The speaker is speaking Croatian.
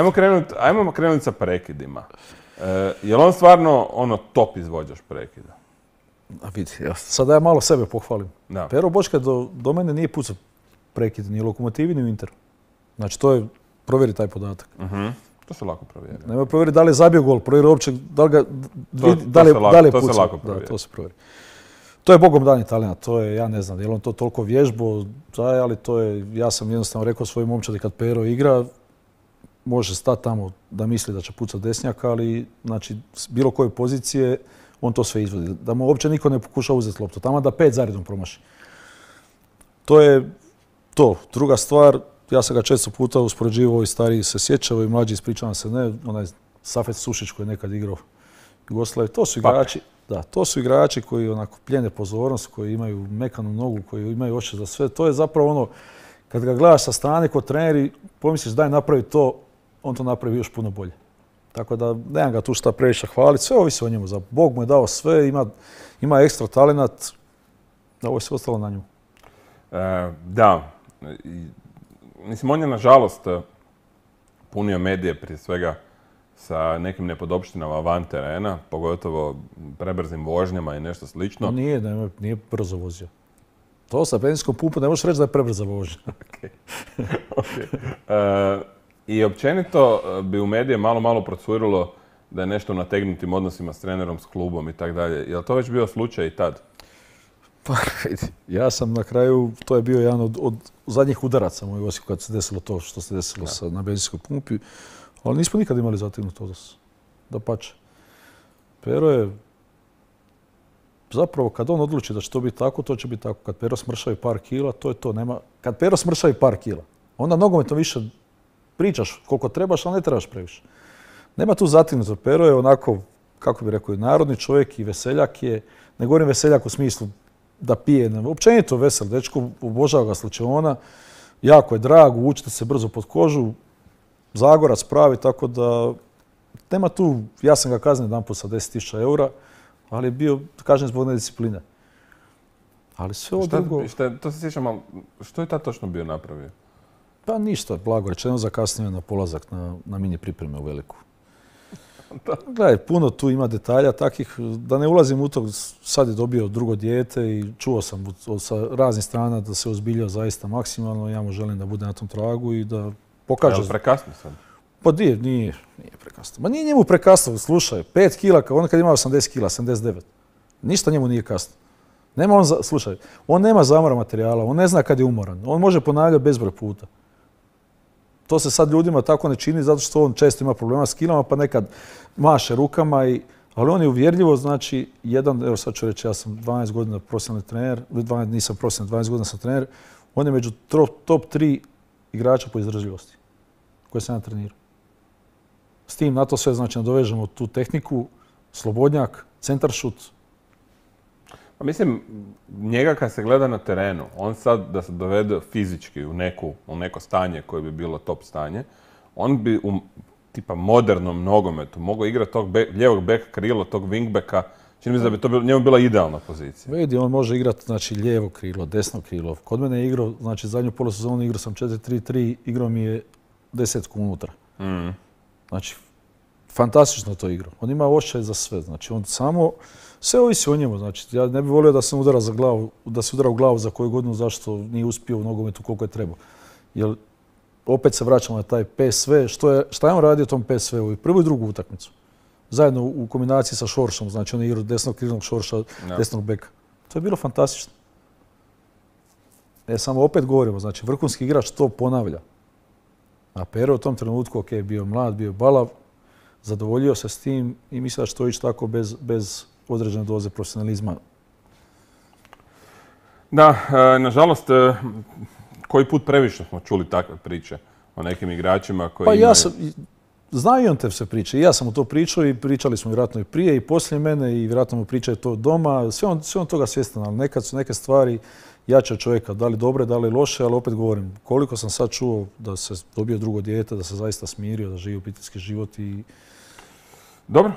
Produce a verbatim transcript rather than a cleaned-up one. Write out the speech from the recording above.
Ajmo krenuti ajmo krenut sa prekidima. E, je li on stvarno ono top izvođač prekida? A vidi, ja, sada ja malo sebe pohvalim. Da. Pero Bočka do, do mene nije pucao prekid, ni u Lokomotivi, ni u Interu. Znači, to je, provjeri taj podatak. Uh-huh. To se lako provjeri. Nema provjeri da li je zabio gol, provjeri uopće da li ga, To- vidi, to da li, se lako- da li je to se pucao. lako provjeri. Da, to se provjeri. To je bogom dani talent, to je, ja ne znam, je li on to toliko vježbo, daj, ali to je, ja sam jednostavno rekao svojoj momčadi kad Pero igra, može stati tamo da misli da će pucati desnjaka, ali znači, s bilo koje pozicije, on to sve izvodi. Da mu uopće niko ne pokuša uzeti loptu, tamo da pet zaredom promaši. To je to. Druga stvar, ja sam ga često puta uspoređivao, i stariji se sjećao i mlađi ispričavam se, ne, onaj Safet Sušić koji je nekad igrao Jugoslavije, to su igrači, da, to su igrači koji onako pljene pozornost, koji imaju mekanu nogu, koji imaju oči za sve. To je zapravo ono, kad ga gledaš sa strane kod treneri, pomisliš daj napravi to, on to napravi još puno bolje. Tako da nemam ga tu šta previše hvaliti, sve ovisi o njemu. Bog mu je dao sve, ima, ima ekstra talenat, da ovo je sve ostalo na njemu. E, da, I, mislim, on je nažalost punio medije prije svega sa nekim nepodopštinama van terena, pogotovo prebrzim vožnjama i nešto slično. No nije, nije, nije brzo vozio. To sa benzinskom pumpom ne možeš reći da je prebrza vožnja. Okay. Okay. E, I općenito bi u medije malo, malo procurilo da je nešto u nategnutim odnosima s trenerom, s klubom i tako dalje. Je li to već bio slučaj i tad? Pa, ja sam na kraju, to je bio jedan od, od zadnjih udaraca moj Osijeku kad se desilo to što se desilo sa, na benzinskoj pumpi, ali nismo nikad imali zategnuti odnos. Dapače. Pero je, zapravo kad on odluči da će to biti tako, to će biti tako. Kad Pero smršavi par kila, to je to. Nema, kad Pero smršavi par kila, onda nogometno više pričaš koliko trebaš, ali ne trebaš previše. Nema tu zategnuto. Pero je onako, kako bi rekao, narodni čovjek i veseljak je. Ne govorim veseljak u smislu da pije, ne, općenito vesel dečko, obožava ga slučajona, jako je drag, učite se brzo pod kožu, Zagorac pravi, tako da nema tu, ja sam ga kaznio jedan put sa deset tisuća eura, ali je bio kažnjen zbog nediscipline. Ali sve ovo drugo... Šta, to se sjećam, ali što je tad točno bio napravio? Pa ništa, blago rečeno, zakasnio na polazak na, na mini pripreme u Veliku. Gledaj, puno tu ima detalja takih, da ne ulazim u to, sad je dobio drugo dijete i čuo sam sa raznih strana da se ozbiljio zaista maksimalno. Ja mu želim da bude na tom tragu i da pokaže... Je li prekasno sad? Pa nije, nije, nije prekasno. Ma nije njemu prekasno, slušaj, pet kila, on kad ima osamdeset kila, sedamdeset devet. Ništa njemu nije kasno. Nema on, slušaj, on nema zamora materijala, on ne zna kad je umoran, on može ponavljati bezbroj puta. To se sad ljudima tako ne čini zato što on često ima problema s kilama pa nekad maše rukama, i, ali on je uvjerljivo, znači jedan, evo sad ću reći, ja sam dvanaest godina profesionalni trener, dvanaest, nisam profesionalni, dvanaest godina sam trener, on je među top tri igrača po izdržljivosti koje sam ja trenirao. S tim na to sve, znači, nadovežemo tu tehniku, slobodnjak, centaršut. Pa mislim, njega kad se gleda na terenu, on sad da se dovede fizički u, neku, u neko stanje koje bi bilo top stanje, on bi u tipa modernom nogometu mogao igrati tog be, lijevog beka krilo, tog wingbacka. Čini mi se da bi to bilo, njemu bila idealna pozicija. Vidi, on može igrati, znači, lijevo krilo, desno krilo. Kod mene je igrao, znači zadnju polosezonu igrao sam četiri tri tri, igrao mi je desetku unutra. Mm. Znači, fantastično to igrao. On ima osjećaj za sve, znači on samo, sve ovisi o njemu, znači ja ne bih volio da se udara za glavu, da se udara u glavu za koju godinu zašto nije uspio u nogometu koliko je trebao. Jer opet se vraćamo na taj P S V, što je, šta je on radio tom P S V-u i prvu i drugu utakmicu. Zajedno u kombinaciji sa Šoršom, znači on je igrao desnog krilnog Šorša, no. desnog beka. To je bilo fantastično. E, samo opet govorimo, znači vrhunski igrač to ponavlja. A Pero u tom trenutku, ok, bio mlad, bio balav, zadovoljio se s tim i mislim da će to ići tako bez, bez određene doze profesionalizma. Da, e, nažalost, e, koji put previše smo čuli takve priče o nekim igračima koji pa imaju... ja sam, znaju on te sve priče. I ja sam mu to pričao i pričali smo vjerojatno i prije i poslije mene i vjerojatno mu pričaju to doma. Sve on, sve on toga svjestan, ali nekad su neke stvari jače od čovjeka, da li dobre, da li loše, ali opet govorim, koliko sam sad čuo da se dobio drugo dijete, da se zaista smirio, da živi obiteljski život i... Dobro.